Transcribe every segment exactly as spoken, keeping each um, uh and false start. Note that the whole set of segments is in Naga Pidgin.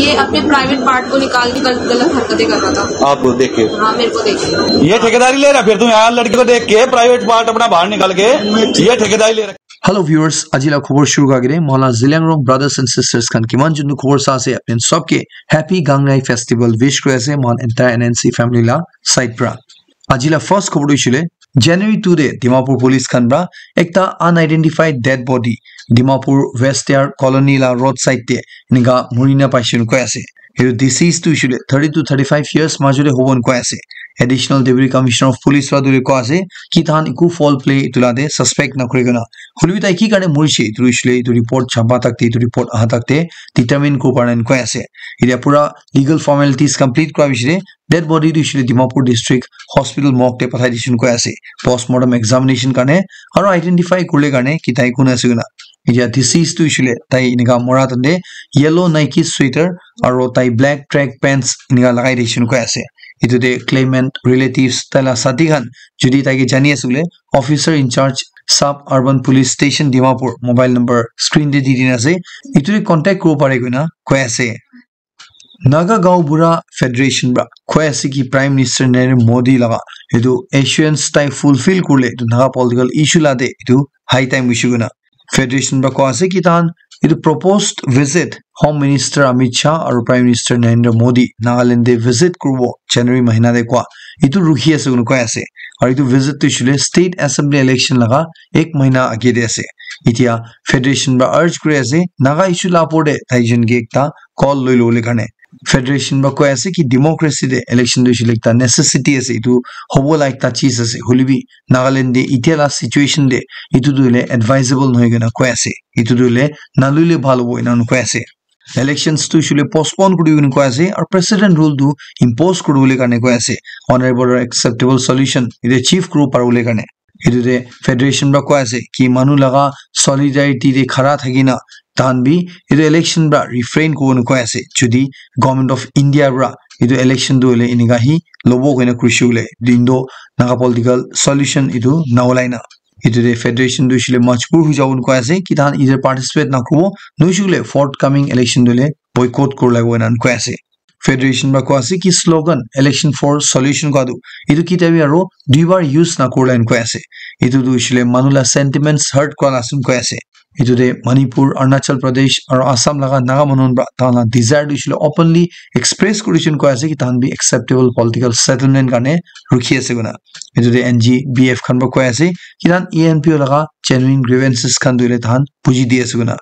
ये अपने प्राइवेट पार्ट को निकाल के गल-, गलत हरकतें कर रहा था। आपको देख के? हाँ, मेरे को देख के। ये ठेकेदारी ले रहा, फिर तुम यहाँ लड़की को देख के प्राइवेट पार्ट अपना बाहर निकाल के ये ठेकेदारी ले रहा। Hello viewers, ajila khobor shuru kagire, mola Zeliangrong brothers and sisters khan kiman jun khobor sa ase, apni sob ke happy Gangnai festival wish kuri ase, mon entire N N C family la side pra. Ajila first khobor tu hoishile, January two de Dimapur police khan pra ekta unidentified dead body Dimapur West Yard colony la road side te enika murina paishe koi ase. Etu deceased tu hoishile thirty to thirty five years majute hobo koi ase. Additional Deputy Commissioner of Police pra tu koi ase ki tahan eku foul play etu la de suspect na kuri kena. Hoilebi tai ki karne murishe etu hoishile etu report chapa tak te etu report aha tak te determine kuri para koi ase. Etia pura legal formalities complete kura pichete dead body tu hoishile Dimapur District Hospital morgue te pathai dishe koi ase. Postmortem examination karne aro identify kurle karne ki tai kun ase koi na. Etia deceased tu hoishile tai enika mora tante yellow Nike sweater aro tai black track pants enika lagai dishe koi ase. Etu te claimant relatives tai la sati khan jodi tai ke jani ase koile officer in charge sub urban police station Dimapur mobile number screen te di dina ase. Etu te contact kuribo pare koi na koi ase. Naga Gaon Bura Federation pra koi ase ki Prime Minister Narendra Modi laga etu assurance tai fulfill kurle etu Naga political issue la de etu high time hoishe koi na. Federation pra koi ase ki tahan etu proposed visit Home Minister Amit Shah aru Prime Minister Narendra Modi Nagaland te visit kuribo January mahina te koi etu rukhi ase koi na koi ase. Aru etu visit tu hoishile state assembly election laga ek mahina age te ase. Etia federation pra urge kuri ase Naga issue la opor te tai jon ke ekta call loi lobole karne. Federation pra koi ase ki democracy te election tu hoishile ekta necessity ase, etu hobo la ekta cheez ase. Hoilebi Nagaland te etia la situation te etu tu hoile advisable nohoi kena koi ase. Etu tu hoile naloile bhal hobo ena koi ase. Elections tu hoishile postpone kuri kena koi ase aru president rule tu impose kuribole karne koi ase. Honorable acceptable solution etu achieve kuribo paribole karne. Etu te federation pra koi ase ki manu laga solidarity te khara thaki na tahan bi etu election pra refrain kuribo koi ase. Jodi Government of India pra etu election tu hoile enika hi lobo koina kurishe koile din tu Naga political solution etu na olai na. Etu te federation tu hoishile majbur hoi jabo koi ase ki tahan either participate na kuribo, nohoishe koile forthcoming election tu hoile boycott kuri lagibo ena koi ase. Federation pra koi ase ki slogan election for solution koi tu etu kitia bi aro duibar use na kurila koi ase. Etu tu hoishile manu la sentiments hurt kura la asim koi ase. Etu te Manipur, Arunachal Pradesh aru Assam laga Naga manu pra tahan la desire tu hoishile openly express kurishe koi ase ki tahan bi acceptable political settlement karne rukhi ase koi na. Etu te N G B F khan pra koi ase ki tahan E N P O laga genuine grievances khan tu hoile tahan buji di ase koi na.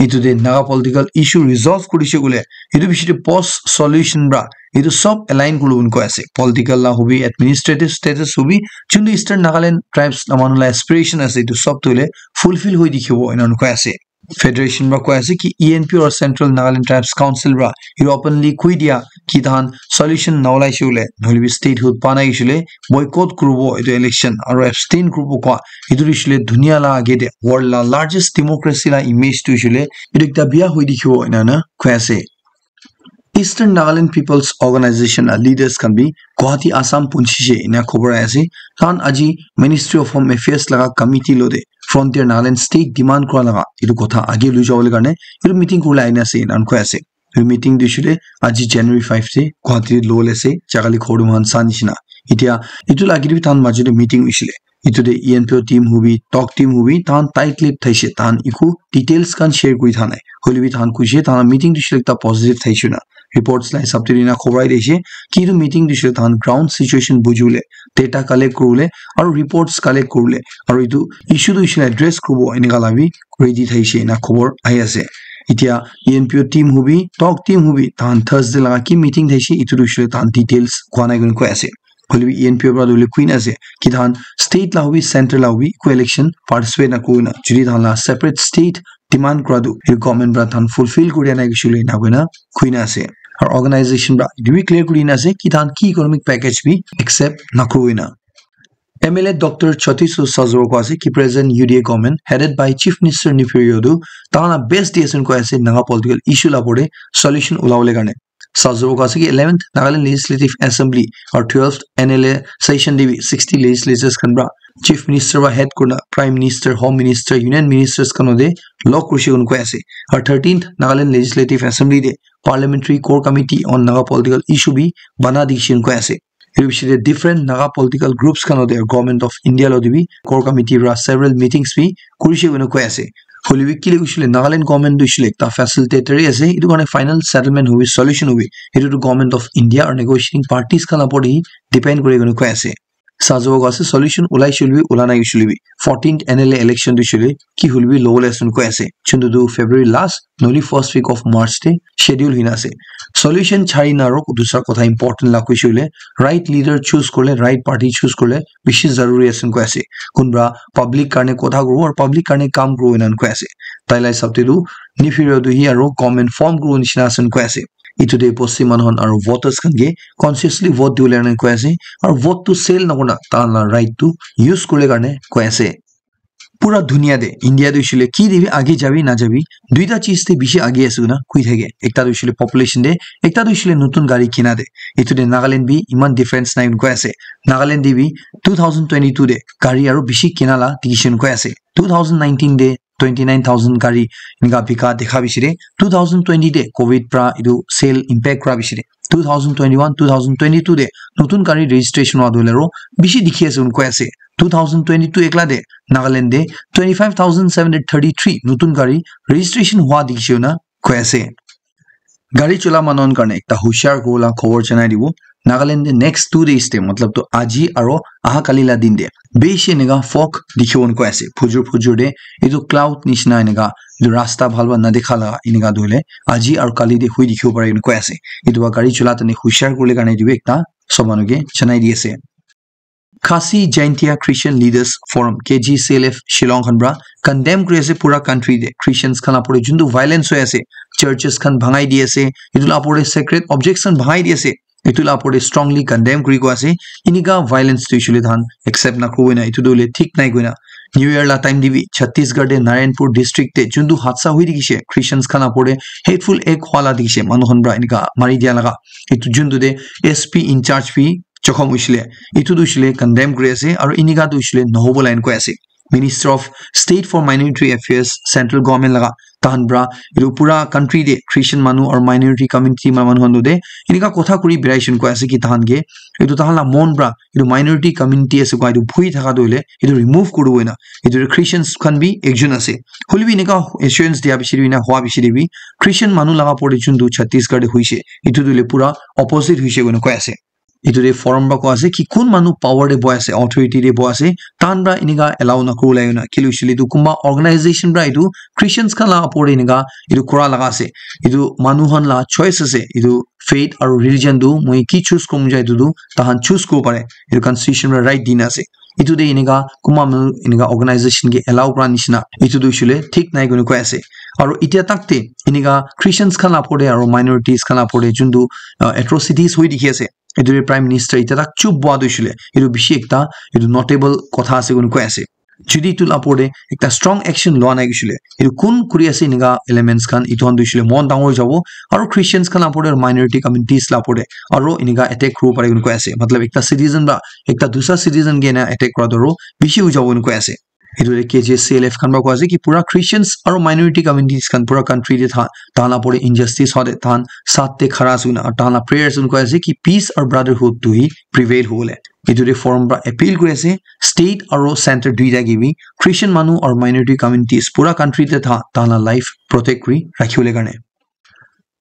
Etu te Naga political issue resolve kurishe koile etu bishi te post solution pra etu sob align kuribo koi ase. Political la hobi, administrative status hobi, juntu Eastern Nagaland tribes la manu la aspiration ase etu sob tu hoile fulfill hoi dikhibo ena koi ase. Federation pra koi ase ki E N P O aru Central Nagaland Tribes Council pra etu openly koi dia ki tahan solution na olaishe koile nohoile bi statehood pa nai hoishe koile boycott kuribo etu election aru abstain kuribo koi etu tu hoishile dunia la age te world la largest democracy la image tu hoishile etu ekta bia hoi dikhibo ena na koi ase. Eastern Nagaland People's Organization la leaders khan bi Guwahati Assam punchishe ena khobor ahi ase. Tahan aji Ministry of Home Affairs laga committee lo te Frontier Nagaland State demand kura laga etu kotha age loi jabole karne etu meeting kuribole ahina ase ena koi ase. Etu meeting tu hoishile aji January five te Guwahati lobole ase, jaga le khor tu moikhan sa nishina. Etia etu la age te bi tahan majot te meeting hoishile. Etu te E N P O team hobi, talk team hobi, tahan tight lip thaishe, tahan eku details khan share kuri tha nai. Hoile bi tahan koishe, tahan meeting tu hoishile ekta positive thaishe na. Reports la hisab te ena khobor ahi thakishe ki etu meeting tu hoishile tahan ground situation bujibole, data collect kuribole, aru reports collect kuribole, aru etu issue tu hoishile address kuribo eneka la bi ready thaishe ena khobor ahi ase. Etia E N P O team hobi, talk team hobi, tahan Thursday laga ki meeting thaishe, etu tu hoishile tahan details koi nai koi ase. Hoile bi E N P O pra tu hoile koi na ase ki tahan state la hobi, center la hobi, eku election participate na kurina. Jodi tahan la separate state demand kura tu, etu government pra tahan fulfill kuri nai hoishe koile ena koi na koi na ase. Aru organization pra etu bi clear kuri na ase ki tahan ki economic package bi accept na kuri na. M L A Doctor Chotisu Sazor koi ase ki present U D A government headed by Chief Minister Neiphiu Rio tu tahan la best di ase koi ase Naga political issue la opor te solution ulabole karne. Sazu ka ase ki eleventh Nagaland Legislative Assembly or twelfth N L A session de bi sixty legislators khan pra Chief Minister wa head kurna Prime Minister, Home Minister, Union Ministers khan de log kurishe koi ase. Or thirteenth Nagaland Legislative Assembly de Parliamentary Core Committee on Naga Political Issue bi bana dikhishe koi ase. Etu bishi de different Naga political groups khan de Government of India lo de bi Core Committee ra several meetings bi kurishe koi ase. Hoilebi kile kuishe le Nagaland government tu hoishe le ekta facilitator he ase. Etu karne final settlement hobi, solution hobi, etu tu Government of India or negotiating parties khan la upor te depend kuri kena koi ase. Sazo ka ase solution ulai shule bi, ula nai shule bi, fourteenth N L A election tu shule ki hoilebi lobole ase koi ase. Chuntu tu February last, noli first week of March te schedule hina ase. Solution chari na ro dusra kotha important la kuishe le right leader choose korle, right party choose korle bishi zaruri ase koi ase. Kunba public karne kotha kuribo aru public karne kam kuribo enan koi ase. Tai la hisab te tu nifira tu hi aru government form kuribo nishina ase koi ase. Etu de bosti manu khan aru voters khan ke consciously vote dibole karne koi ase. Aru vote tu sale nakurna tai la right tu use kuribole karne koi ase. Pura dunia de, India de hoishe le ki de bi age jabi na jabi, duita cheez de bishi age ase koina koi thake. Ekta de hoishe le population de, ekta de hoishe le notun gari kina de. Etu de Nagaland bi iman difference nai koi ase. Nagaland de bi two thousand twenty-two de gari aru bishi kina la dikhishe koi ase. Two thousand nineteen de twenty-nine thousand gari enika bika dekha bishi de. Two thousand twenty de covid pra etu sale impact kura bishi de. Two thousand twenty-one, two thousand twenty-two de notun gari registration wa dole ro bishi dikhi ase koi ase. Two thousand twenty-two ekla de Nagaland de twenty-five thousand seven hundred thirty-three notun gari registration hua dikhi ase na koi ase. Gari chola manu khan karne ekta hushar kuribole khobor janai dibo. Nagaland de next two days de, matlab tu aji aro aha kali la din de, bishi enika fog dikhibo koi ase. Phujur phujur de etu cloud nishina enika, etu rasta bhal para na dekha la enika tu hoile aji aro kali de hui dikhibo pare koi ase. Etu para gari chola tani hushar kuribole karne etu bi ekta sob manu ke janai di ase. Khasi Jaintia Christian Leaders Forum, K G C L F, Shillong khan pra condemn kuri ase pura country de Christians khan la upor de juntu violence hoi ase, churches khan bhangai di ase, etu la upor de sacred objects khan bhangai di ase, etu la upor de strongly condemn kuri koi ase. Enika violence tu hoishe le tahan accept nakuribo na, etu tu hoile thik nai koina. New Year la time de bi Chhattisgarh de Narayanpur district de juntu hadsa hoi dikhishe, Christians khan la upor de hateful act hua la dikhishe, manu khan pra enika mari dia laga, etu juntu de S P in charge bi jokhom hoishe le, etu tu hoishe le condemn kuri ase, aro enika tu hoishe le nohobo line koi ase. Minister of State for Minority Affairs, central government laga, tahan pra etu pura country de Christian manu aru minority community ma manu khan tu de enika kotha kuri birai shun koi ase ki tahan ke etu tahan la mon pra etu minority community ase koi etu bhui thaka tu hoile etu remove kuribo na. Etu de Christians khan bi ekjon ase. Hoilebi enika assurance dia bishi de bi na hua bishi de bi Christian manu laga upor de juntu Chhattisgarh de hoishe, etu tu hoile pura opposite hoishe koina koi ase. Etu de forum pra koi ase ki kun manu power de bohi ase, authority de bohi ase, tahan pra enika allow nakuribole na. Kile hoishe le etu kunba organization pra etu Christians khan la upor de enika etu kura laga ase. Etu manu khan la choice ase. Etu faith aru religion tu moi ki choose kuribo mon jai etu tu tahan choose kuribo pare. Etu constitution pra right dina ase. Etu de enika kunba manu enika organization ke allow kura nishina etu tu hoishe le thik nai koina koi ase. Aru etia tak de enika Christians khan la upor de aru minorities khan la upor de juntu, uh, atrocities hoi dikhi ase. Etu de Prime Minister etia tak chup boha tu hoishe le etu bishi ekta etu notable kotha ase koina koi ase. Jodi etu la upor de ekta strong action lua nai hoishe le etu kun kuri ase enika elements khan etu khan tu hoishe le mon dangor jabo. Aru Christians khan la upor de, minority communities la upor de aru enika attack kuribo pare koina koi ase. Matlab ekta citizen pra ekta dusra citizen ke ena attack kura tu aru bishi hoi jabo koina koi ase. Etu de K G C L F khan pra koi ase ki pura Christians aru minority communities khan pura country de tha, tahan la upor de injustice hua de tahan saath de khara ase koina aru tahan la prayers koina koi ase ki peace aru brotherhood tu hi prevail hobole. Etu de forum pra appeal kuri ase state aru center duita ke bi Christian manu aru minority communities pura country de tha, tahan la life protect kuri rakhibole karne.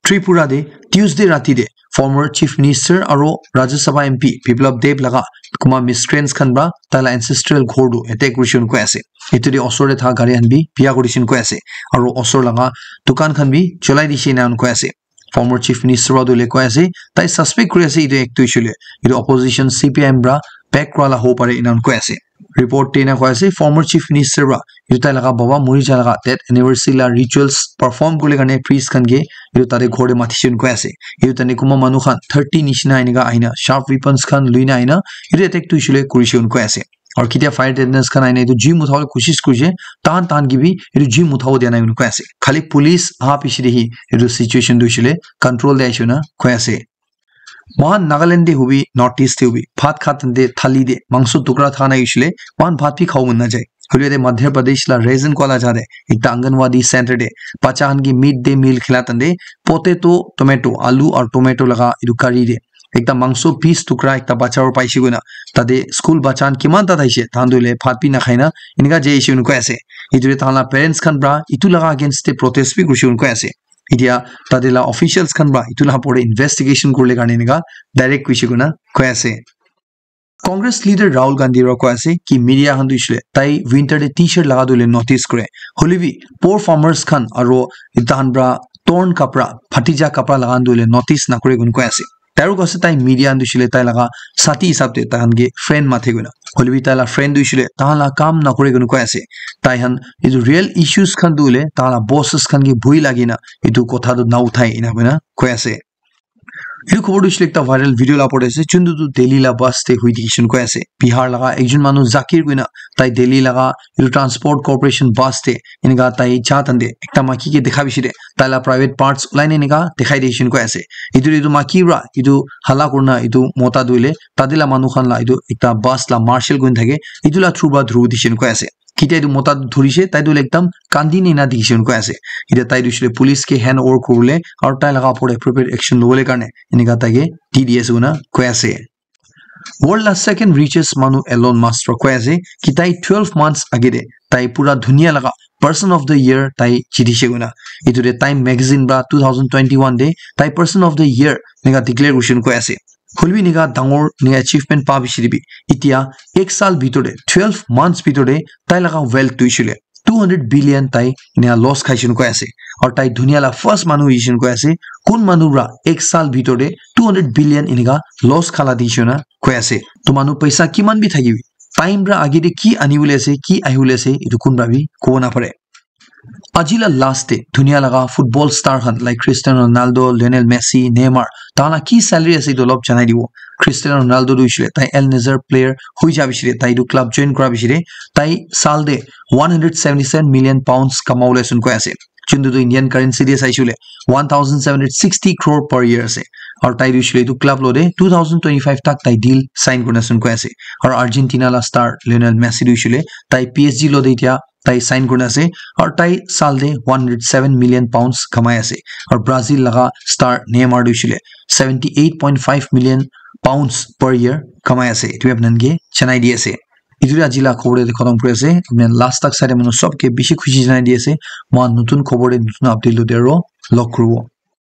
Tripura de Tuesday rati de former Chief Minister aru Rajya Sabha M P Biplab Deb laga kunba miscreants khan pra tai la ancestral ghor tu attack kurishe koina koi ase. Etu de osor de tha gari khan bi biya kurishe koina koi ase. Aru osor laga dukan khan bi cholai dishe koina koi ase. Former Chief Minister wa tu le koi ase, tai suspect kuri ase etu act tu hoishe le etu opposition C P I M pra back kura la hobo pare enan koi ase. Report te ena koi ase, former Chief Minister pra etu tai laga baba muri ja laga death anniversary la rituals perform kuribole karne priest khan ke etu tate ghor te matishe koina koi ase. Etu tani kunba manu khan thirty nishina enika ahina sharp weapons khan luina ahina etu attack tu hoishe le kurishe koina koi ase. Aru ketia fire retardants khan aina etu jui muthabole kosis kurise, tahan tahan ke bi etu jui muthabo dia nai koi ase. Khali police aha piche de hi etu situation tu hoishe le control de aishe na koi ase. Mohan Nagaland te hobi, North East te hobi, bhat khat te thali te mangso tukra thana hoishe le mohan bhat bi khabo mon najai. Hoile te Madhya Pradesh la Raisin koa la jaga te ekta Anganwadi center te bacha khan ke mid day meal khila tande potato, tomato, alu aru tomato laga etu curry te ekta mangso piece tukra ekta bacha para paishe koina tate school bacha khan kiman ta thaishe tahan tu hoile bhat bi nakhai na enika jai ase koi ase. Etu te tahan la parents khan para etu laga against te protest bi kurishe koi ase. Etia tate la officials khan para etu la opor te investigation kurile karne enika direct kurishe koina koi ase. Congress leader Rahul Gandhi para koi ase ki media khan tu hoishe le tai winter te t-shirt laga tu hoile notice kore. Hoile bi poor farmers khan aru tahan para torn kapra, phatija kapra laga tu hoile notice nakore koina koi ase. Tai aru koi ase tai media khan tu hoishe le tai laga sati hisab te tai khan ke friend mathe koina. Hoile bi tai la friend tu hoishe le tahan la kam nakore koina koi ase. Tai khan etu real issues khan tu hoile tahan la bosses khan ke bhoi lagi na etu kotha tu na uthai ena koina koi ase. Etu khobor tu hoishe le ekta viral video la opor te ase, juntu tu Delhi la bus te hui dikhi shun koi ase. Bihar laga ekjon manu Zakir koina tai Delhi laga etu transport corporation bus te enika tai ja tande ekta maiki ke dekha bishi de tai la private parts ulai ne enika dekhai dikhi shun koi ase. Etu etu maiki para etu hala kurina etu mota tu hoile tate la manu khan la etu ekta bus la marshal kuri thake etu la through para dhuru dikhi shun koi ase. Ketia etu mota tu dhurishe tai tu hoile ekdam kandi nina dikhi shun koi ase. Etia tai tu hoishe le police ke hand over kuribole aru tai laga opor te appropriate action lobole karne enika tai ke di di ase koina koi ase. World la second richest manu Elon Musk para koi ase ki tai twelve months age te tai pura dunia laga person of the year tai jitishe koina. Etu te Time magazine para two thousand twenty-one te tai person of the year enika declare kurishe koina koi ase. Hoile bi enika dangor enika achievement pa bishi te bi etia ek saal bitor te twelve months bitor te tai laga wealth tu hoishe le two hundred billion tai enika loss khaishe koina koi ase. Aru tai dunia la first manu hoishe koina koi ase. Kun manu para ek saal bitor te two hundred billion enika loss khala dikhi shun koi ase. To manu paisa kiman bi thaki bi time para age te ki ani bole ase, ki ahi bole ase, etu kun para bi kobo na pare. Aji la last te dunia laga football star khan like Cristiano Ronaldo, Lionel Messi, Neymar, tahan la ki salary ase etu olop janai dibo. Cristiano Ronaldo tu hoishe le tai Al Nassr player hui ja bishi le tai etu club join kura bishi le tai saal te one hundred seventy seven million pounds kamabole ase koina koi ase. Juntu tu Indian currency te saishe le one thousand seven hundred sixty crore per year ase. Aru tai tu hoishe le etu club lo te two thousand twenty-five tak tai deal sign kurina ase koina koi ase. Aru Argentina la star Lionel Messi tu hoishe le tai P S G lo te etia tai sign kurina ase. Aru tai saal te one hundred seven million pounds kamai ase. Aru Brazil laga star Neymar tu hoishe le seventy eight point five million pounds per year kamai ase. Etu apni khan ke janai di ase. Etu te aji la khobor te khatam kuri ase. Apni khan last tak sai le manu sob ke bishi khushi janai di ase. Mohan notun khobor te notun update lo te aru log kuribo.